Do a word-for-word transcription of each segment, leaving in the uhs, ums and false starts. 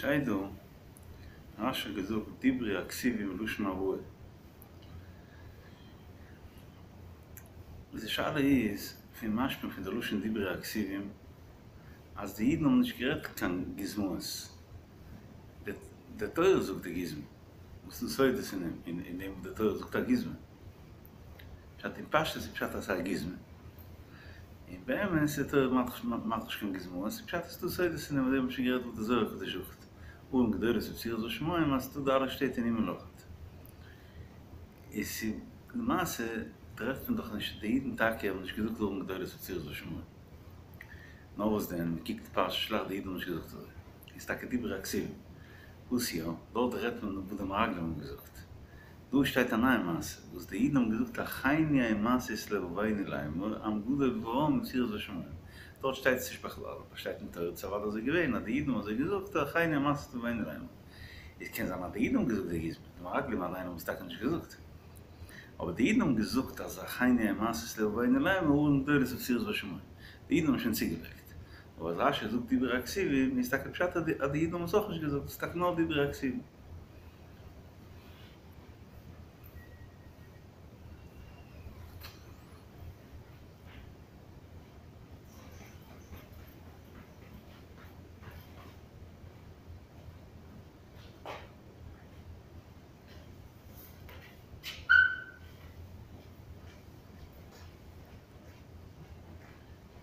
ס'שטייט דא, רש"י האט געזאגט דברי הכתובים לשון הבאה. די שאלה איז, פון משמע פון די לשון דברי הכתובים, אז די אידן האבן נישט גערעדט קיין גוזמאות. די תורה זאגט די גוזמא. וואס איז די סודות אין דעם, אין דעם וואס די תורה זאגט א גוזמא? פשט אין פשטות איז פשט אז ס'איז א גוזמא. און באמת איז די תורה מאכט נישט קיין גוזמאות, איז פשט אז ס'איז דא סודות אין דעם, אזוי האבן מיר שוין גערעדט וואס די זוהר הקדוש זאגט, ערים גדולות ובצורות בשמים אז ס'איז דא די אלע שטעט אין הימל אויכעט. איז למעשה טרעפט מען דאך נישט, די אידן טאקע האבן נישט געזאגט ערים גדולות ובצורות בשמים. נאר וואס דען, מען קוקט פרשת שלח די אידן האבן נישט געזאגט אזוי. איז טאקע דברי הכתובים. וואס יא, דארט רעדט מען וואס די מרגלים האבן געזאגט. דא שטייט א נייע מעשה, וואס די אידן האבן געזאגט אחינו הם עשו את לבבנו לאמר, עם גדול ורם ובצורות בשמים. דארט שטייט עס נישט בכלל, אבער שטייט אין תורה ס'איז אוודאי אזוי געווען אז די אידן האבן אזוי געזאגט אחינו הם עשו את לבבנו לאמר. איז קען זיין אז די אידן האבן געזאגט די גוזמא, די מרגלים אליין האבן עס טאקע נישט געזאגט. אבער די אידן האבן געזאגט אז אחינו הם עשו את לבבנו לאמר ערים גדולות ובצורות בשמים. די אידן האבן שוין צוגעלייגט. אבער אז רש"י זאגט דברי הכתובים איז טאקע פשט אז די אידן האבן עס אויך נישט געזאגט, עס איז טאקע נאר דברי הכתובים.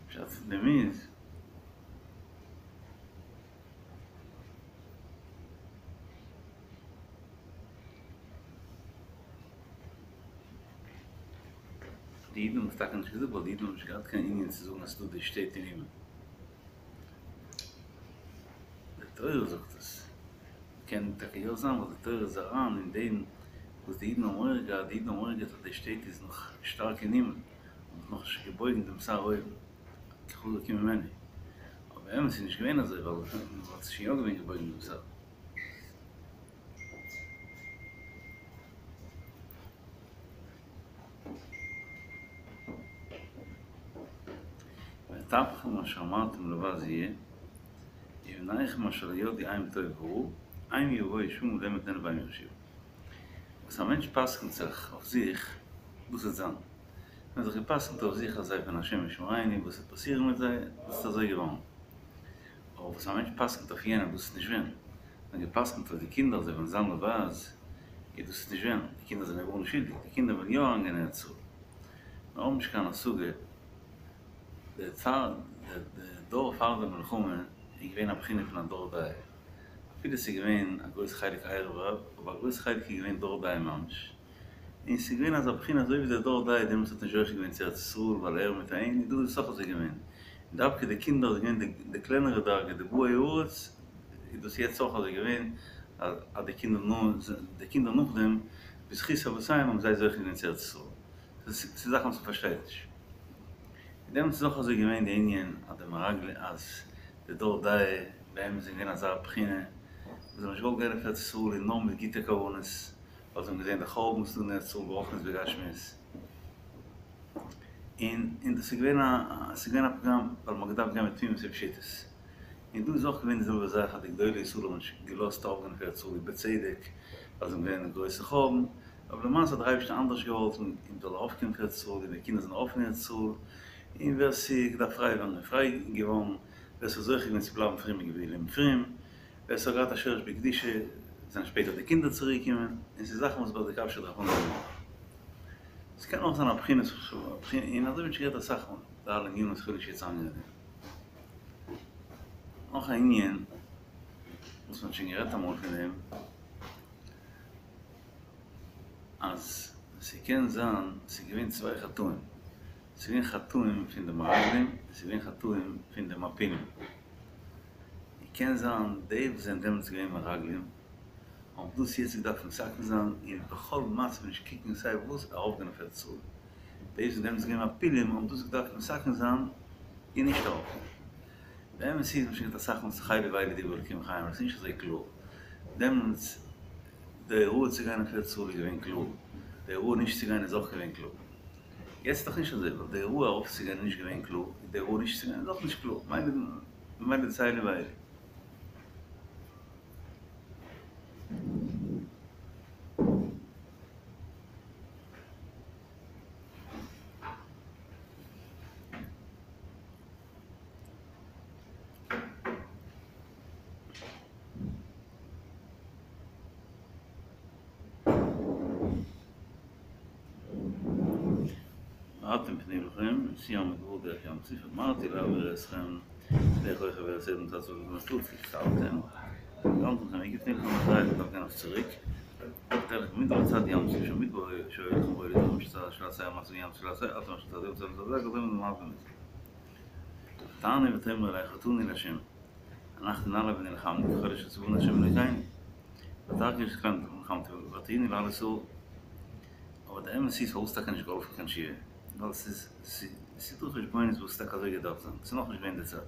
פשט פון דעם איז. די אידן האבן עס טאקע נישט געזאגט ווייל די אידן האבן נישט געהאט קיין ענין צו זאגן אז ס'איז דא די שטעט אין הימל. די תורה זאגט עס. קען טאקע יא זיין ווייל די תורה איז אריין אין דעם וואס די אידן האבן מורא געהאט, די אידן האבן מורא געהאט אז די שטעט איז נאך שטארק אין הימל, האבן נאך נישט געבויגן דעם שר אויבן, כי חזק הוא ממנו. אבער אמת איז נישט געווען אזוי ווייל מ'האט שוין יא געווען געבויגן דעם שר. וטפכם אשר אמרתם לבז יהיה, ובניכם אשר לא ידעו אם טוב ורע, הם יבואו שמה להם אתננה והם יירשוה. וואס א מענטש פסק'נט זיך אויף זיך, דאס וועט זיין. זיי האבן זיך גע'פסק'נט אויף זיך אז זיי פון השם ישמרינו, וואס וועט פאסירן מיט זיי, דאס איז אזוי געווארן. אבער וואס א מענטש פסק'נט אויף יענעם, דאס איז נישט ווען. זיי האבן גע'פסק'נט אויף די קינדער אז זיי וועלן זיין לבז, איז דאס איז נישט ווען. די קינדער זענען גארנישט שולדיג, די קינדער וועלן יא אריינגיין אין ארץ ישראל. מיר האבן נישט קיין השגה. די דור פאר די מלחמה איז געווען א בחינה פון א דור דעה. אפילו ס'איז געווען א גרויס חלק ערב רב, אבער א גרויס חלק איז געווען דור דעה ממש. און ס'איז געווען אזא בחינה אזוי ווי דער דור דעה דעמאלטס האט נישט זוכה געווען צו ארץ ישראל ווייל ער מיט אים, און דא איז עס אויך אזוי געווען. און דווקא די קינדער איז געווען די קלענערע דרגה, די באי הארץ, איז דאס יעצט אויך אזוי געווען, אז די קינדער די קינדער נאכדעם, בזכות אבותיהם האבן זיי זוכה געווען צו ארץ ישראל. ס'איז זאכן וואס מ'פארשטייט נישט. און דעמאלטס איז אויך אזוי געווען די ענין אז די מרגלים אז די דור דעה באמת זענען געווען אזא בחינה וואס זיי האבן נישט געוואלט גיין אויף ארץ ישראל און נאר מיט גוטע כוונות ווייל זיי האבן געזען די חורבן וואס איז דא אין ארץ ישראל ברוחניות ובגשמיות און און דאס איז געווען א עס איז געווען א פגם ווייל מען האט געדארפט גיין מיט תמימות ופשיטות און דא איז אויך געווען די זעלבע זאך אז די גדולי ישראל האבן נישט געלאזט ארויפגיין אויף ארץ ישראל ובצדק ווייל זיי האבן געזען די גרויסע חורבן אבער למעשה האט דער אייבערשטער אנדערש געוואלט און מ'זאל ארויפקומען אויף ארץ ישראל און די קינדער זענען ארויף אין ארץ ישראל און ווער ס'איז געדארפט פריי ווערן איז פריי געווארן, ווער ס'איז זוכה געווען צו בלייבן פרום איז געבליבן פרום, ווער ס'האט געהאט א שורש בקדושה זענען שפעטער די קינדער צוריק געקומען, און ס'איז זאכן וואס ביי די קשיא דארף מען האבן. ס'קען אויך זיין א בחינת און אזוי ווי שוין גערעדט אסאך מאל, די אלע ענינים וואס כ'וויל נישט יעצט איינגיין אין דעם. נאך א ענין וואס מ'האט שוין גערעדט אמאל פון דעם. אז ס'קען זיין ס'איז געווען צוויי חטאים, ס'איז געווען חטאים פון די מרגלים און ס'איז געווען חטאים פון די מעפילים, און קען זיין די וואס זענען דעמאלטס געווען מרגלים האבן דאס יעצט געדארפט מתקן זיין און בכל מצב נישט קוקן סיי וואס ארויפגיין אויף ארץ ישראל, די וואס זענען דעמאלטס געווען מעפילים האבן דאס געדארפט מתקן זיין און נישט ארויפגיין. די אמת איז מ'האט שוין געהאט אסאך מאל ס'איז אלו ואלו דברי אלקים חיים אבער ס'איז נישט אזוי קלאר דעמאלטס. די הוראה צו גיין אויף ארץ ישראל איז געווען קלאר, די הוראה נישט צו גיין איז אויך געווען קלאר. יעצט איז דאך נישט אזוי, ווייל די הוראה ארויפצוגיין איז נישט געווען קלאר, און די הוראה נישט צו גיין איז אויך נישט קלאר, ממילא דאס אלו ואלו. אתם פנו לכם, סור המדבר דרך ים סוף, אמרתי להעביר אתכם דרך רוחב ארץ אדום תעזבו את המסלול, כי כתבתם, ואמרתם לכם, הנה פנו לכם אחרי, אתם דרכם אף צוריק, במדבר צד ים סוף, שמדבר שואל לכם רואי לדברים של עשה ים ים של עשה, אתם אשר תעזבו את זה, זה מה באמת. תענה ותאמר אלי חטאוני להשם, אנחנו נעלה ונלחמנו, ככל אשר ציוונו השם אלוקינו. ותרגיש כאן נלחמתי, ותהיני לעל אסור. אבער דער אמת איז, פארוואס טאקע נישט געהאלפן קיין תשובה? ווייל ס'איז ס'איז דא חשבונות וואס טאקע אזוי געדארפט זיין, ס'איז נאכנישט געווען די צייט.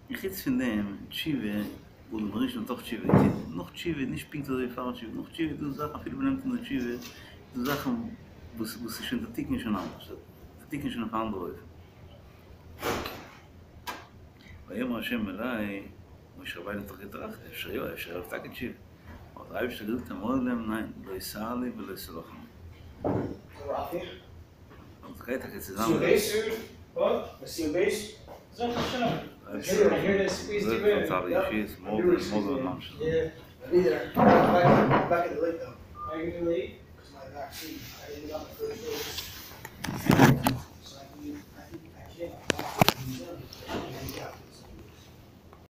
און חוץ פון דעם, תשובה, אדם הראשון האט אויך תשובה געטון, נאך תשובה איז נישט פונקט אזוי ווי פאר תשובה, נאך תשובה איז דא זאכן אפילו מ'נעמט אן די תשובה, איז דא זאכן וואס וואס איז שוין די תיקון איז שוין אנדערש, די תיקון איז שוין אויף א אנדערע אופן. ויאמר ה' אלי, משה רבינו האט דאך געטראכט, אפשר יא, אפשר העלפט טאקע תשובה. האט דער אייבערשטער געזאגט אמור להם ניין, לא תעלו ולא תלכו. און ס'גייט טאקע צוזאמען.